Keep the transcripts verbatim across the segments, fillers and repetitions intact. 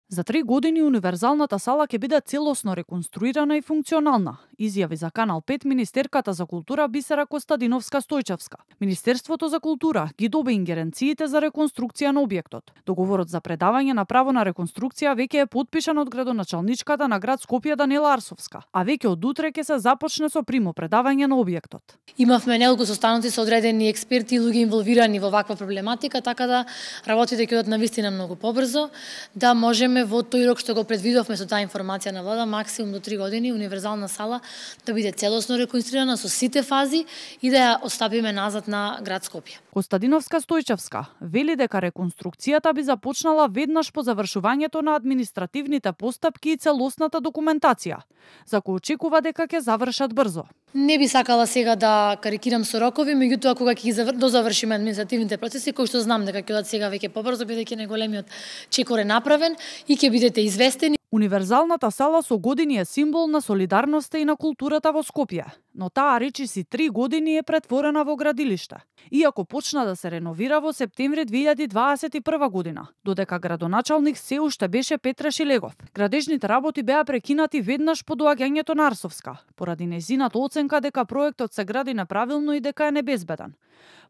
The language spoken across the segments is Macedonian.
За три години универзалната сала ќе биде целосно реконструирана и функционална, изјави за Канал пет министерката за култура Бисера Костадиновска-Стојчевска. Министерството за култура ги доби ингеренциите за реконструкција на објектот. Договорот за предавање на право на реконструкција веќе е потпишан од градоначалничката на град Скопје Даниела Арсовска, а веќе од утре ќе се започне со примопредавање на објектот. Имавме неколку состаноци со одредени експерти и луѓе инволвирани во ваква проблематика, така да работите ќе одат навистина многу побрзо, да можеме во тој рок што го предвидовме со таа информација на влада, максимум до три години универзална сала да биде целосно реконструирана со сите фази и да ја остапиме назад на град Скопје. Костадиновска-Стојчевска вели дека реконструкцијата би започнала веднаш по завршувањето на административните постапки и целосната документација, за кој очекува дека ќе завршат брзо. Не би сакала сега да карикирам со рокови, меѓутоа кога ќе ги завр... дозавршиме административните процеси, кои што знам дека ќе одат сега веќе побрзо, бидејќи најголемиот чекор е направен и ќе бидете известени. Универзалната сала со години е символ на солидарноста и на културата во Скопје, но таа речиси три години е претворена во градилиште. Иако почна да се реновира во септември две илјади дваесет и прва година, додека градоначалник се уште беше Петра Шилегов. Градежните работи беа прекинати веднаш по доаѓањето на Арсовска, поради нејзината оценка дека проектот се гради неправилно и дека е небезбеден.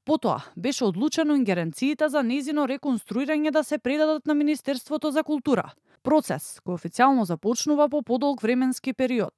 Потоа беше одлучено ингеренциите за нејзино реконструирање да се предадат на Министерството за култура. Процес кој официјално започнува по подолг временски период.